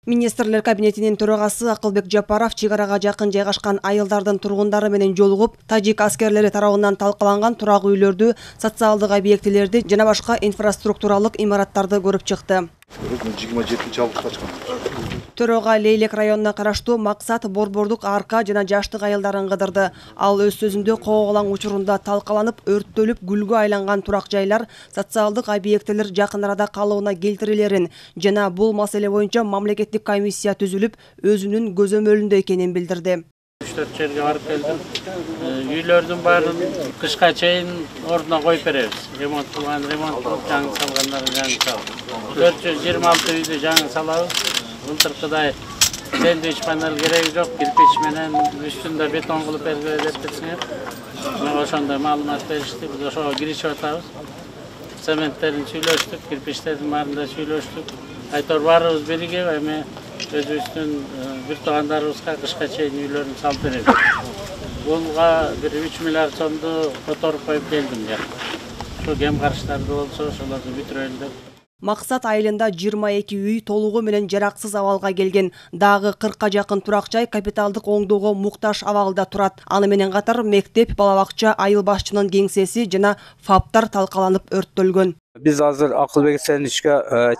Министрлер кабинетинин төрагасы Акылбек Жапаров чек арага жакын жайгашкан айылдардын тургундары менен жолугуп, тажик аскерлери тарабынан талкаланган турак үйлөрдү, социалдык объектилерди жана башка инфраструктуралык имараттарды көрүп чыкты. 27 августта Төрага Лейлек районуна караштуу Максат Борбордук арка жана жаштык айылдарын кыдырды. Ал өз сөзүндө кооголаң учурунда талкаланып, өрттөлүп, гүлгө айланган турак жайлар, социалдык объектилер жакын арада калыбына келтирилерин жана бул маселе боюнча мамлекеттик комиссия түзүлүп, өзүнүн көзөмөлүндө экенин билдирди. 3-4 жерге барып келдим. Үйлөрдүн баарын кышка чейин ордуна коюп беребиз. Ремонт кылган ремонт, жаңы салгандарын жаңы салып. 426 үйдү жаңы салабыз. Былтыркыдай сэндвич панел кереги жок, кирпич менен үстүндө бетон кылып бергиле деп турсуңар. Мага ошондой маалымат беришти. Биз ошого киришип атабыз. Цементтерин сүйлөштүк, кирпичтердин баарында сүйлөштүк. Айтор баарыбыз биригип, эми өзүбүздүн бир туугандарыбызга кышка чейин үйлөрүн салып беребиз. Буга бир 3 миллиард сомду которуп коюп келдим я. Şu кем карыштарды болсо ошолорду бүтүрөлү деп. Максат айылында 22 үй толугу менен жараксыз абалга келген. Дагы 40-ка жакын турак жай капиталдык оңдоого муктаж абалда турат. Аны менен катар мектеп, бала бакча, айыл башчынын кеңсеси жана фаптар талкаланып өрттөлгөн. Biz азыр Акылбек Сеничке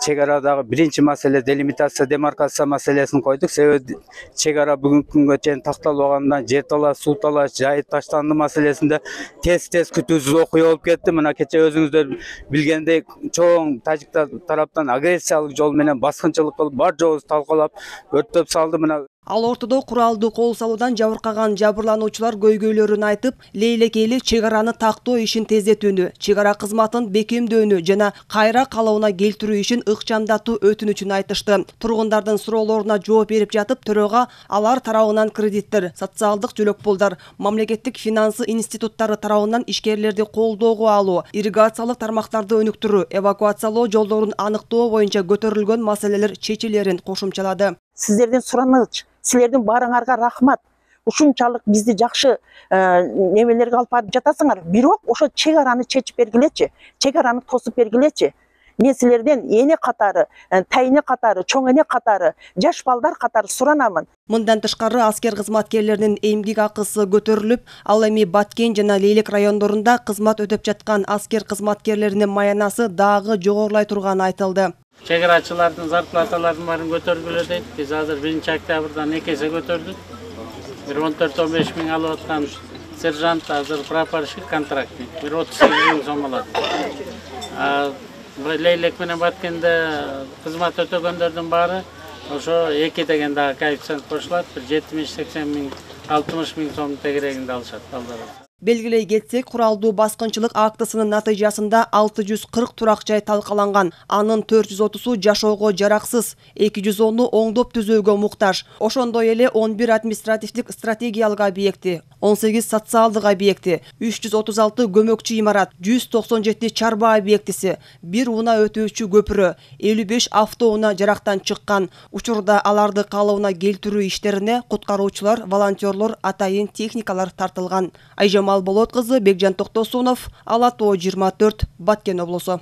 чек арадагы биринчи маселе делимитация, демаркация маселесин койдук. Себеби чек ара бүгүнкү күнгө чейин такталбагандан жер талаш, суу талаш, жайыт таштанды маселесинде тез күтүүсүз окуя болуп кетти. Мына кече өзүңүздөр билгендей чоң тажиктар тараптан агрессиялык жол менен баскынчылык кылып, бар жообузду талкалап, өрттөп салды. Мына Ал ортодо куралдуу кол салуудан жабыркаган жабырлануучулар көйгөйлөрүн айтып, Лейлек эли чек араны тактоо ишин тездетүүнү, чек ара кызматын бекемдөөнү жана кайра калыбына келтирүү ишин ыкчамдатуу өтүнүчүн айтышты. Тургундардын суроолоруна жооп берип жатып, төрага алар тарабынан кредиттер, социалдык жөлөк пулдар, мамлекеттик финансы институттары тарабынан ишкерлерди колдоого алуу, ирригациялык тармактарды өнүктүрүү, эвакуациялоо жолдорун аныктоо боюнча көтөрүлгөн маселелер чечилерин кошумчалады. Сиздердин сураныч, силердин баарыңарга рахмат. Ушунчалык бизди жакшы немелерге алып барып жатасыңар. Бирок ошо чек араны чечип бергилечи, чек араны тосуп бергилечи. Мен силерден эне катары, тайне катары, чоң эне катары, жаш балдар катары суранамын. Мындан тышкары аскер кызматкерлеринин эмгек акысы көтөрүлүп, ал эми Баткен жана Лейлек райондорунда кызмат өтөп жаткан аскер кызматкерлеринин маянасы дагы жогорулай турганы айтылды. Чек арачылардын зарплаталарын баарын көтөргүлө дейт. Биз азыр 1-октябрдан 2 эсе көтөрдүк. Bir 14-15 миң алып аткан сержант азыр прапорщик контрактник. Bir 38 миң сом алат. Лейлек менен Баткенде кызмат өтөгөндөрдүн баары ошо 2 деген дагы коэффициент кошулат. Bir 70-80 миң, 60 миң сом тегерегинде алышат балдар. Белгилей кетсек, куралдуу баскынчылык актысынын натыйжасында 640 турак жай талкаланган. Анын 430-у жашоого жараксыз, 210-у оңдоп түзөөгө муктаж. Ошондой эле 11 административдик стратегиялык объекти, 18 социалдык объекти, 336 көмөкчү имарат, 197 чарба объектиси, 1 унаа өтүүчү көпүрө, 55 автоунаа жарактан чыккан. Учурда аларды калыбына келтирүү иштерине куткаруучулар, волонтерлор, атайын техникалар тартылган. Болот кызы, Бекжан Токтосунов, Ала Тоо 24, Баткен облусу.